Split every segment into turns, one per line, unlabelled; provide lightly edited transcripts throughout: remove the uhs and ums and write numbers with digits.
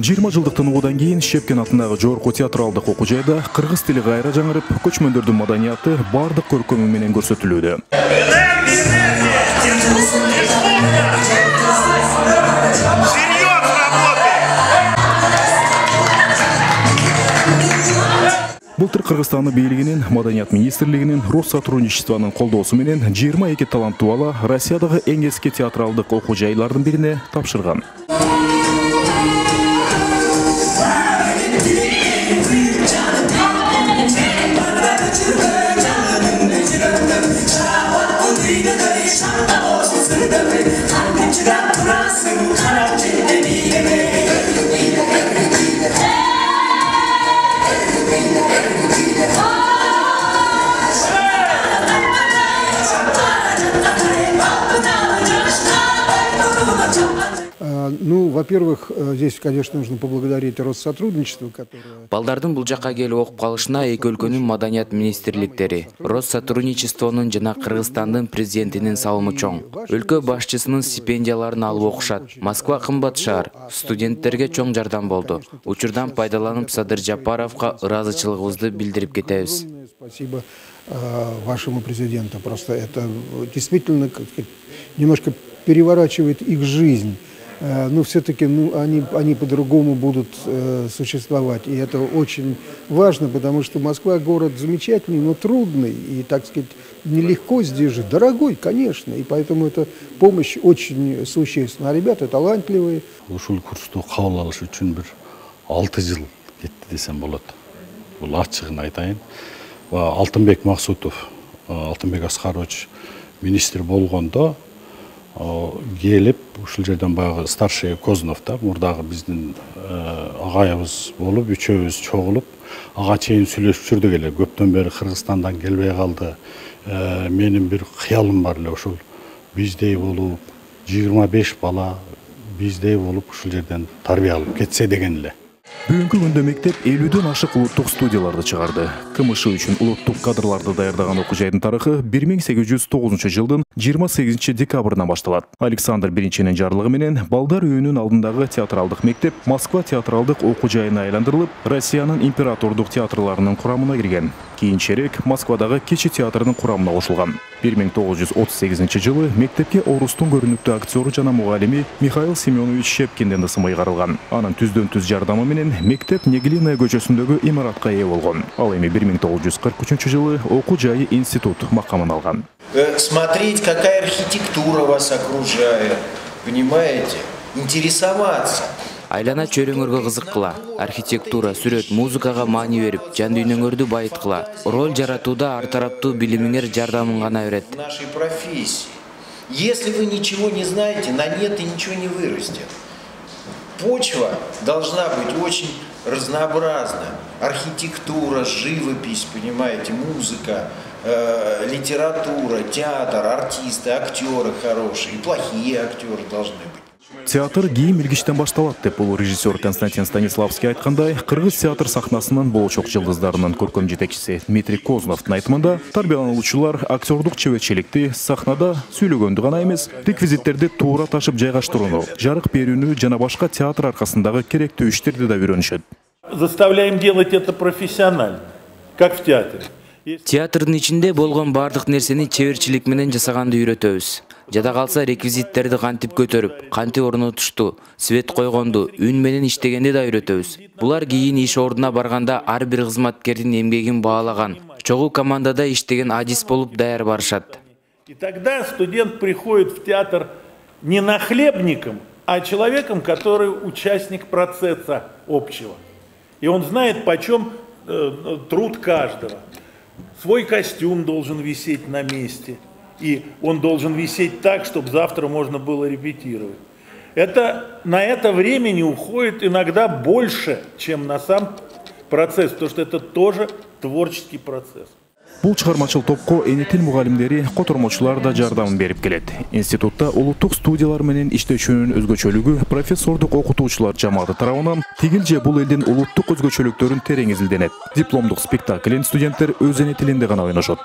20 жылдык тынуудан кийин Шепкен атындагы Жогорку театралдык окуу жайда кыргыз тили кайра жаңырып, көчмөндөрдүн маданияты бардык көркөмү менен көрсөтүлүүдө. Былтыр Кыргызстандын бийлигинин, Маданият министрлигинин, Россотрудничествонун колдоосу менен 22 таланттуу бала Россиядагы эң эски театралдык окуу жайлардын бирине тапшырган.
Ну, во-первых, здесь, конечно, нужно поблагодарить Россотрудничество, которое...
Балдардын бул жакка келип окуп калышына эки өлкөнүн маданият министрликтери, Россотрудничествонун жана Кыргызстандын президентинин салымы чоң. Өлкө башчысынын стипендияларын алып окушат. Москва кымбат шаар, студенттерге чоң жардам болду. Учурдан пайдаланып Садыр Жапаровго ыраазычылыгыбызды билдирип кетебиз.
Спасибо вашему президенту. Просто это действительно, как сказать, немножко переворачивает их жизнь. Но все-таки они по-другому будут существовать. И это очень важно, потому что Москва город замечательный, но трудный. И, так сказать, нелегко здесь жить. Дорогой, конечно. И поэтому эта помощь очень существенна. А ребята талантливые.
Ушул курсту кабыл алыш үчүн бир 6 жыл кетти десем болот. Бул ачыгын айтайын. Алтынбек Максутов, Алтынбек Аскарович министр болгондо келип ушул жерден баягы старший Кознов да мурдагы биздин агайыбыз болуп, үчөөбүз чогулуп, ага чейин сүйлөшүп жүрдүк эле. Көптөн бери Кыргызстандан келбей калды. Менин бир кыялым бар эле ушул биздей болуп, 25 бала биздей болуп ушул жерден тарбия алып кетсе деген эле.
Бүгүнкү күндө мектеп 50ден ашык улуттук студияларды чыгарды. КМШ үчүн улуттук кадрларды даярдаган окуу жайдын тарыхы 1809 жылдын 28 декабрынан башталат. Александр Биринчинин жарлыгы менен балдар үйүнүн алдындагы театралдык мектеп Москва театралдык окуу жайына айландырылып, Россиянын императордук театрларынын курамына кирген. Кийинчерээк Москвадагы Кечи театрынын курамына кошулган. 1938 жылы мектепке орустун көрүнүктүү актеру жана мугалими Михаил Семенович Шепкинден ысымы ыйгарылган. Анын түздөн-түз жардамы менен мектеп Неглинная көчөсүндөгү имаратка ээ болгон. Ал эми 1943 жылы окуу жайы институт макамын алган.
Смотреть, какая архитектура вас окружает, понимаете? Интересоваться.
Айлана чөйрөңөргө кызыккыла, архитектура, сүрөт, музыкага маани берип, жан дүйнөңөрдү байыткыла. Роль жаратууда ар тараптуу билимиңер жардамын гана берет.
Нашей профессии. Если вы ничего не знаете, на нет и ничего не вырастет. Почва должна быть очень разнообразна. Архитектура, живопись, понимаете, музыка, литература, театр, артисты, актеры хорошие, и плохие актеры должны быть.
Театр кийим илгичтен башталат деп бул режиссер Константин Станиславский айткандай, кыргыз театр сахнасынын болочок жылдыздарынын көркөм жетекчиси Дмитрий Козновдун айтымында, тарбиялануучулар актердук чеберчиликти сахнада сүйлөгөндү гана эмес, реквизиттерди туура ташып жайгаштырууну, жарык берүүнү жана башка театр аркасындагы керектүү иштерди да үйрөнүшөт.
Заставляем делать это профессионально, как в театре.
Театрдын ичинде болгон бардык нерсени чеберчилик менен жасаганды үйрөтөбүз. Жада калса реквизиттерди кантип көтөрүп, кантип орнотушту, свет койгонду, үн менен иштегенди да үйрөтөбүз. Булар кийин иш ордуна барганда ар бир кызматкердин эмгегин баалаган, чогуу командада иштеген адис болуп даяр барышат.
И тогда студент приходит в театр не нахлебником, а человеком, который участник процесса общего. И он знает, почем труд каждого. Свой костюм должен висеть на месте. И он должен висеть так, чтобы завтра можно было репетировать. На это времени уходит иногда больше, чем на сам процесс, потому что это тоже творческий процесс.
Бул чыгармачыл топко эни тил мугалимдери, котормочулар да жардамын берип келет. Институтта улуттук студиялар менен иштешүүнүн өзгөчөлүгү профессордук окутуучулар жамааты тарабынан тигил же бул элдин улуттук өзгөчөлүктөрүн терең изилденет. Дипломдук спектаклин студенттер өз эне тилинде гана ойношот.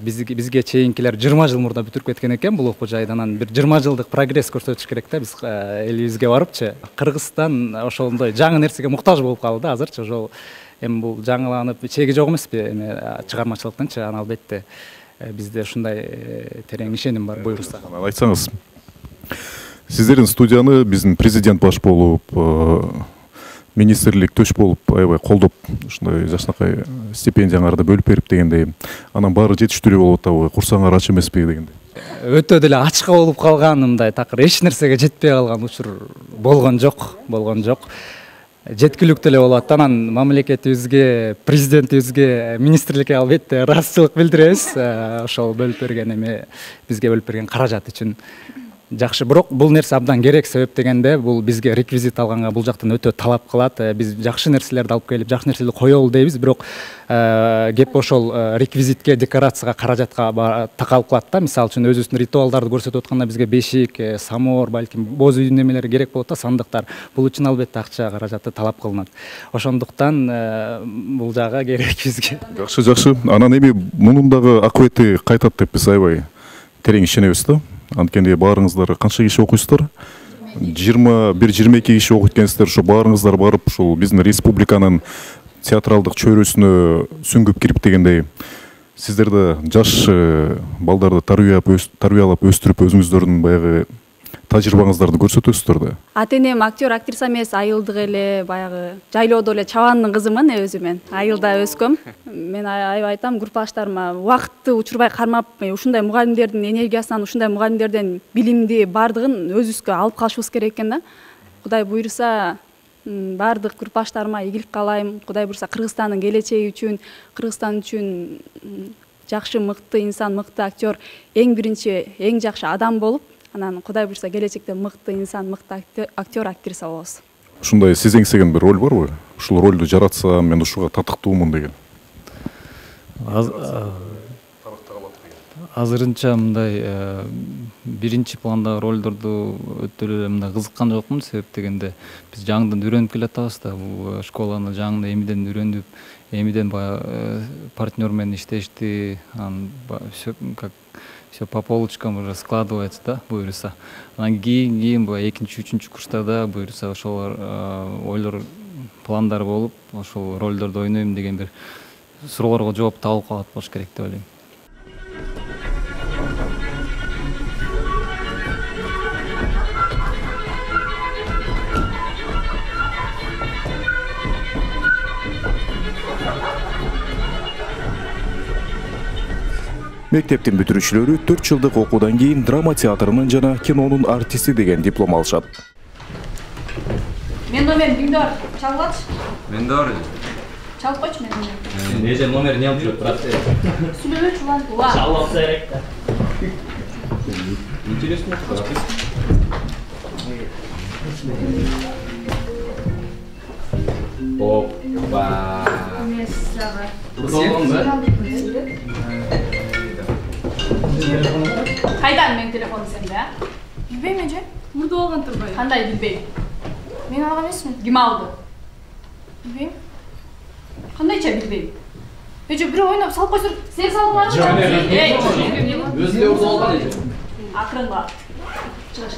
Бизге чейинкилер 20 жыл мурда бүтүрүп кеткен экен бул окуу жайды. Анан бир 20 жылдык прогресс көрсөтүш керек да биз элибизге барыпчы. Кыргызстан ошондой жаңы нерсеге муктаж болуп калды азырчы. Ошол эми бул жаңыланып чеги жок эмеспи эми чыгармачылыктынчы. Аны албетте бизде ушундай терең ишеним бар. Буйрса.
Айтсаңыз, сиздердин студияны биздин президент баш болуп, министрлик төш болуп, аябай колдоп, ушундай жакшынакай стипендияңарды бөлүп берип дегендей, анан баары жетиштүү болуп атабы, курсаңар ач эмеспи дегендей.
Өтө деле ачка болуп калган, мындай такыр эч нерсеге жетпей калган учур болгон жок. Жеткиликтүү эле болуп атат. Анан мамлекетибизге, президентибизге, министрликке албетте ыраазычылык билдиребиз. Ошол бөлүп берген эми бизге бөлүп берген каражат үчүн. Жакшы, бирок бул нерсе абдан керек. Себеп дегенде бул бизге реквизит алганга бул жактан өтө талап кылат. Биз жакшы нерселерди алып келип, жакшы нерселерди коелу дейбиз, бирок кеп ошол реквизитке, декорацияга, каражатка такалып калат да. Мисалы үчүн өзүбүздүн ритуалдарды көрсөтүп атканда бизге бешик, самор, балким боз үйдүн немелери керек болот да, сандыктар. Бул үчүн албетте акча, каражаты талап кылынат. Ошондуктан бул жагы керек бизге.
Жакшы. Анан эми мунун дагы акыбети кайтат деп биз аябай терең ишенебиз да. Анткени баарыңыздар канча киши окуйсуздар? 21-22 киши окуйт экенсиздер. Ошо баарыңыздар барып, ушул биздин республиканын театралдык чөйрөсүнө сүңгүп кирип дегендей, сиздерде жаш балдарды тарбиялап өстүрүп өзүңүздөрдүн баягы тажрыйбаңыздарды көрсөтөсүздөр да.
Ата-энем актер, актриса эмес, айылдык эле баягы жайлоодо эле чабандын кызымын өзү мен. Айылда өскөм. Мен аябай айтам группаштарыма убакытты учурбай кармап, ушундай мугалимдердин энергиясынан, ушундай мугалимдерден билимди бардыгын өзүбүзгө алып калышыбыз керек экен да. Кудай буйруса бардык группаштарыма ийгилик каалайм. Кудай буйруса Кыргызстандын келечеги үчүн, Кыргызстан үчүн жакшы, мыкты инсан, мыкты актер, эң биринчи, эң жакшы адам болуп, анан Кудай буйруса келечекте мыкты инсан, мыкты актер, актриса болобуз.
Ушундай сиз эңсеген бир роль барбы? Ушул ролду жаратсам, мен ушуга татыктуумун деген.
Азырынча мындай биринчи пландагы ролдорду өтө эле мындай кызыккан жокмун. Себеп дегенде биз жаңыдан үйрөнүп келатабыз да, бул школаны жаңыдан эмиден үйрөнүп, эмиден баягы партнер менен иштешти, все по полочкам уже складывается, да, буйруса. Анан кийин баягы 2-3 курстарда буйруса ошол ойлор, пландар болуп, ошол ролдорду ойнойм деген бир суроолорго жооп табылып калат болуш керек деп ойлойм.
Мектептин бүтүрүүчүлөрү 4 жылдык окуудан кийин драма театрынын жана кинонун артисти деген диплом алышат.
Мен номер биңдор чалгылачы.
Мен дагы
Чалып койчу мен.
Неже номер не алып жүрөт, брат?
Сүйлөчү улан.
Чалып керек да. Интересно, брат. Опа.
Кайдан менин телефонум сенде, а? Билбейм эже. Мурда болгон турбайбы? Кандай билбейм? Мен алган эмесмин. Ким алды? Билбейм. Кандайча билбейм? Эже бирөө ойноп салып койсо, сен салдыңарбы? Жок.
Өзү орду алган эже.
Акырынга. Чыгыш.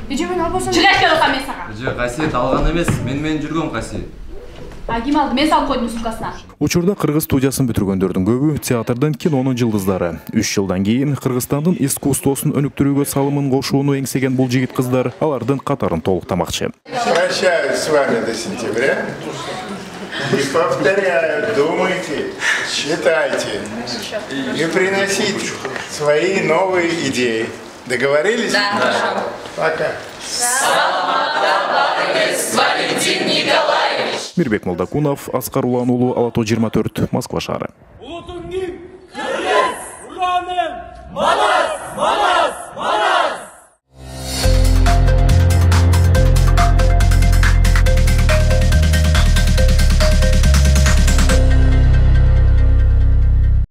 Эже мен албасам. Чыгыш деп атам мен сага.
Эже касиет алган эмес, мен жүргөм касиет.
Ким алды? Мен салып койдум сумкасына.
Учурда кыргыз студиясын бүтүргөндөрдүн көбү театрдын, кинонун жылдыздары. 3 жылдан кийин Кыргызстандын искусствосун өнүктүрүүгө салымын кошууну эңсеген бул жигит кыздар алардын катарын толуктамакчы.
Прощаюсь с вами до сентября. И повторяю, думайте, читайте и приносите свои новые идеи. Договорились?
Да, хорошо.
Пока.
Валентин Николаевич.
Мирбек Молдокунов, Аскар Улан уулу, Ала-Тоо 24, Москва шаары.
Улутуң ким? Кыргыз! Ураным! Мана!